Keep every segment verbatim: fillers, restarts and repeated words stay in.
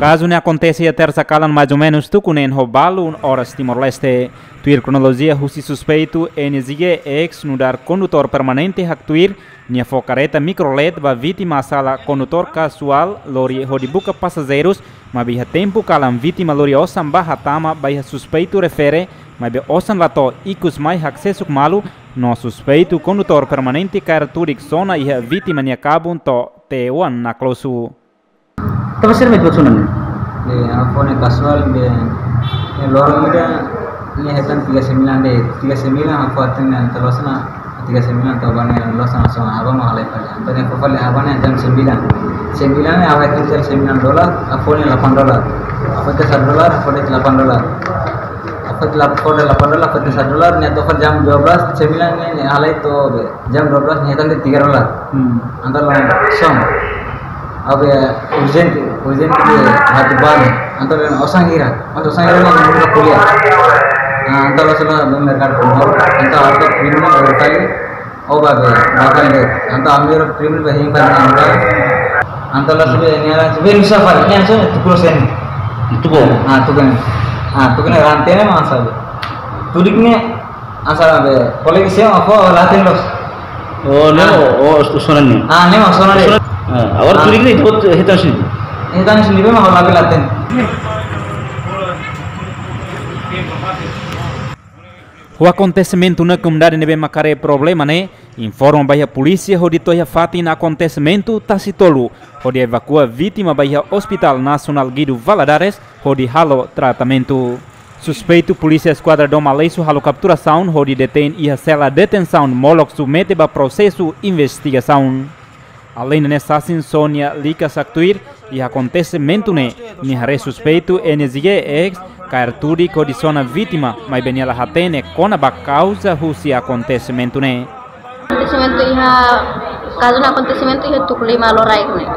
Kazu ne'e akontese iha tersa kalan, mais ou menus tuku neen ho balu oras Timor-Leste. Tuir kronolojia husi suspeitu N J G X nu'udar kondutór permanente haktuir, nia fó kareta mikrolet ba vítima sala kondutór kazuál lori hodi buka pasajeirus, maibé iha tempu kalan vítima lori osan ba hatama ba iha suspeitu refere, maibé osan la to'o, ikus mai haksesuk malu, no suspeitu kondutór permanente kaer tudik sona iha vítima nia kabun to'o tee oan naklosu. Tava sira mai buat sona ne'e? Be, ha'u fó ne'e kazuál be, ne'e loron ida, ne'e hetan tiga sembilan de'it, tiga sembilan ha'u fó hatene entaun loos ona, tiga sembilan entaun ba ne'e loos ona, so ha'u ba mak halai fali. Entaun ne'e fó fali ha'u ba ne'e jam sembilan. Sembilan ne'e ha'u hetan jam sembilan dolar, ha'u fó ne'e delapan dolar. Ha'u fó satu dolar, ha'u fó delapan dolar. Ha'u fó delapan, fó delapan dolar, ha'u fó satu dolar, ne'e to'o fali jam dua belas, sembilan ne'e, ne'e halai to'o be. Jam dua belas ne'e hetan de'it tiga dolar. Hmm. Entaun langsung. Ha'u be urjente, urjente ke hati ban. Entaun osan hira, entaun osan hira ne'e ha'u kuliah. Ah, entaun langsung ba merkadu Timor. Entaun ha'u primi ne'e baru kali. Oh, ba be, ba kali. Entaun ami primi ba him ban entaun. Entaun langsung be ne'e langsung be nusa fali. Ne'e langsung tuku loos ne'e. Tuku. Ah, tuku ne'e. Ah, tuku ne'e rante ne'e mak sala be. Tudik ne'e hanesan be, kolega sira mak fó la hatene loos. Oh, ne'e, ah, oh, oh, sona ne'e. Ah, ne'e mak sona ne'e. Ah, agora, ah, tudik ne'e, ita-boot hetan sini. Hetan sini be mak ha'u labele la hatene. Ho akontesimentu ne'e, komunidade ne'ebé mak haree problema ne'e informa ba iha polísia hodi to'o iha fatin akontesimentu Tasi Tolu, hodi evakua vítima ba iha Hospital Nasionál Guido Valadares hodi halo tratamentu. Suspeitu Polísia Eskuadra Dom Aleixo halo kapturasaun hodi detein iha sela detensaun molok submete ba prosesu investigasaun. Aleinde ne'e, sasin Sónia Likas haktuir, iha akontesimentu ne'e, nia haree suspeitu N J G X kaer tudik hodi sona vítima, maibé nia la hatene kona-ba kauza husi akontesimentu ne'e. Akontesimentu iha, kazu ne'e akontesimentu iha tuku lima loraik ne'e.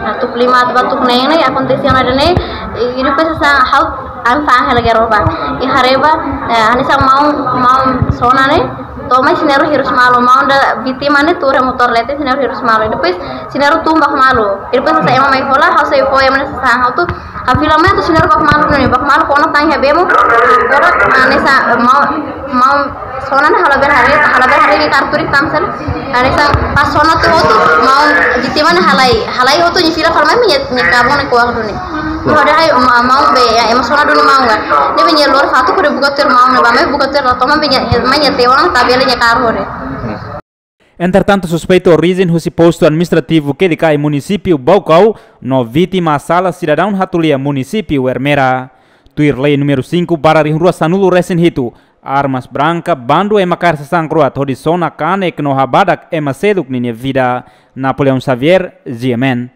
Nah, tuku lima to'o ba tuku neen ne'e akontese ona ida-ne'e, i, i depois hanesan ha'u, ha'u fa'an hela gero ba. I haree ba, eh, hanesan maun, maun sona ne'e, to'o mai sira na'in-rua hirus malu, maun ida vítima ne'e tuur iha motór leten, sira na'in-rua hirus malu. Depois sira na'in-rua tun ba malu. Depois hanesan ema mai hola, ha'u sei fó ema ne'e sasán ha'u atu, ha'u fila mai atu sira na'in-rua ba malu ne'e, ba malu kona tan iha bemo. Agora, hanesan maun, maun sona ne'e ha'u labele haree, ha'u labele haree nia kaer tudik tan sel. Hanesan pas sona tiha hotu, maun vítima ne'e halai, halai hotu nia fila fali mai nia, nia kabun ne'e ko'ak duni. Ha'u dehan ai, ma-, maun be, ya, ema sona duni maun kan. Ne'ebé nia lori fatuk hodi buka tuir maun ne'e, ba mai buka tuir la to'o maun be nia, mai nia tee oan tabele nia kaer hodi. Entretantu, suspeitu orijen husi Postu Administrativu Kelikai, Munisípiu Baucau, no vítima sala sidadaun Hatulia, Munisípiu Ermera. Tuir lei númeru cinco barra rihun rua sanulu resin hitu, armas branka bandu ema kaer sasán kro'at hodi sona kanek no habadak ema seluk ninia vida. Napoleão Xavier, G M N.